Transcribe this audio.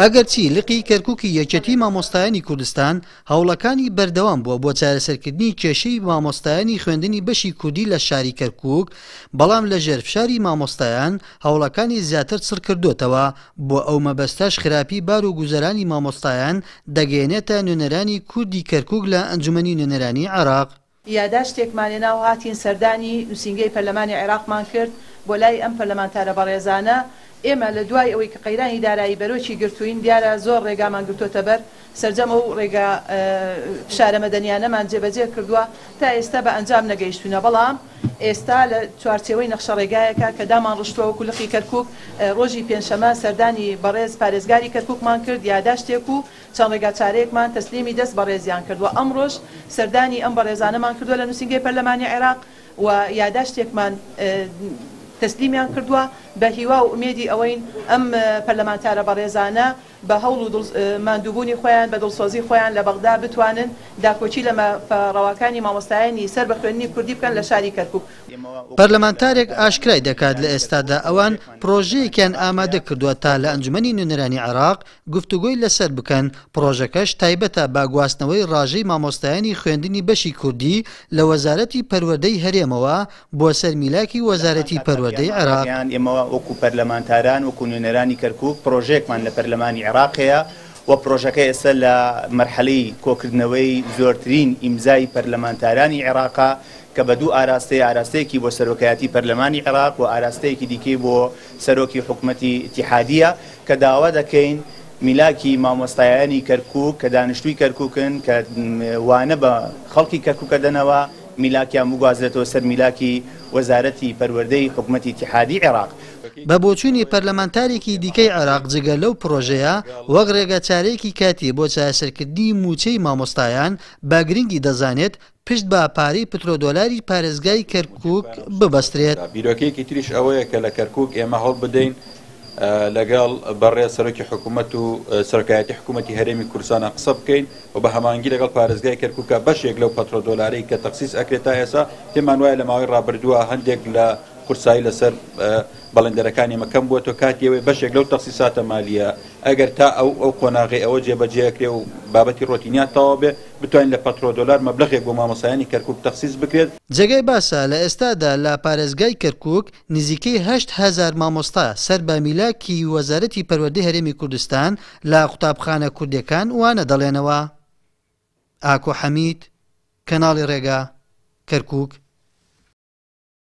ئەگەرچی لقی کەرکوکی یەکێتی مامۆستایانی کوردستان هەوڵەکانی بەردەوام بووە بۆ چارەسەرکردنی کێشەی مامۆستایانی خوێندنی بەشی کوردی لە شاری کەرکوک، بەڵام لەژێر فشاری مامۆستایان هەوڵەکانی زیاتر چڕکردۆتەوە، بۆ ئەو مەبەستەش خراپی بار و گوزەرانی مامۆستایان دەگەیەنێتە نوێنەرانی کوردی کەرکوک لە ئەنجومەنی نوێنەرانی عێراق. یاداشتێکمان هێنا و هاتین سەردانی نوسینگەی پەرلەمانی عێراقمان کرد بۆ لای ئەم پەرلەمانتارە بەڕێزانە، ئێمە لە دوای ئەوەی کە قەیرانی دارایی بەرۆکی گرتووین دیارە زۆر ڕێگامان گرتۆتە بەر، سەرجەم ئەو ڕێگا فشارە مەدەنیانەمان جێبەجێ کردووە تا ئێستا بە ئەنجام نەگەیشتوینە، بەڵام ئێستا لە چوارچێوەی نەخشەڕێگایەکە کە دامانڕشتووە وەکو لقی کەرکوک ڕۆژی پێنجشەمە سەردانی بەڕێز پارێزگاری کەرکوکمان کرد یاداشتێک و چەند ڕێگاچارەیەکمان تەسلیمی دەست بەڕێزیان کرد و ئەمڕۆش سەردانی ئەم بەڕێزانەمان کردووە لە نووسینگەی پەرلەمانی عێراق و یاداشتێکمان تەسلیمیان کردووە، بە هیوا و ئومێدی ئەوەین ئەم پەرلەمانتارە بەڕێزانە بە هەوڵ و ماندووبوونی خۆیان، بە دڵسۆزی خۆیان لە بەغدا بتوانن داکۆکی لە مافە ڕەواکانی مامۆستایانی سەر بە خوێندنی کوردی بکەن لە شاری کەرکوک. پەرلەمانتارێک ئاشکرای دەکات لە ئێستادا ئەوان پڕۆژەیەکیان ئامادە کردووە تا لە ئەنجومەنی نوێنەرانی عێراق گفتوگۆی لەسەر بکەن، پڕۆژەکەش تایبەتە بە گواستنەوەی ڕاژەی مامۆستایانی خوێندنی بەشی کوردی لە وەزارەتی پەروەردەی هەرێمەوە بۆ سەر میلاکی وەزارەتی پەروەردەی عێراق. ئێمە وەکو پەرلەمانتاران، وەکو نوێنەرانی کەرکوک پڕۆژەیەکمان لە پەرلەمانی عێراق هەیە و پڕۆژەکە ئێستا لە مەرحەلەی کۆکردنەوەی زۆرترین ئیمزای پەرلەمانتارانی عێراقە کە بە دوو ئاراستەیە، ئاراستەیەکی بۆ سەرۆکایەتی پەرلەمانی عێراق و ئاراستەیەکی دیکەی بۆ سەرۆکی حکومەتی ئیتیحادییە کە داوا دەکەین میلاکی مامۆستایانی کەرکوک کە دانیشتووی کەرکوکن کە وانە بە خەڵکی کەرکوک ئەدەنەوە میلاکیان بگوازرێتەوە سەر میلاکی وەزارەتی پەروەردەی حکومەتی ئیتیحادی عێراق. بە بۆچوونی پەرلەمانتارێکی دیکەی عێراق جگە لەو پڕۆژەیە وەک ڕێگەچارەیەکی کاتی بۆ چارەسەرکردنی مووچەی مامۆستایان بە گرنگی دەزانێت پشت بە پارەی پترۆدۆلاری پارێزگای کەرکوک ببەسترێت. بیرۆکەیەکی تریش ئەوەیە کە لە کەرکوک ئێمە هەوڵبدەین لەگەڵ بەڕێز سەرۆکی حکوومەت و سەرۆکایەتی حکوومەتی هەرێمی کوردستانا قسە بکەین و بە هەماهەنگی لەگەڵ پارێزگای کەرکوکا بەشێک لەو پەترۆدۆلارەی کە تەخسیس ئەکرێت تا ئێستا پێمان وایە لە ماوەی ڕابردووە هەندێک لە قورسایی لەسەر بەڵێندەرەکانی ئێمە کەم بووەتەوە کاتی ئەوەیە بەشێک لەو تەخسیساتە مالییە ئەگەر تا ئەو ئەو قۆناغەی ئەوە جێبەجێ ئەکرێ و بابەتی ڕۆتینیات تەواو بێ بتوانین لە پەترۆدۆلار مەبلەغێک بۆ مامۆستایانی کەرکوک تەخسیس بکرێت. جێگای باسە لە ئێستادا لە پارێزگای کەرکوک نزیکەی 8000 مامۆستا سەر بە میلاکی وەزارەتی پەروەردەی هەرێمی کوردستان لە قوتابخانە کوردیەکان وانە دەڵێنەوە. ئاکۆ حەمید، کەناڵی ڕێگا، کەرکوک.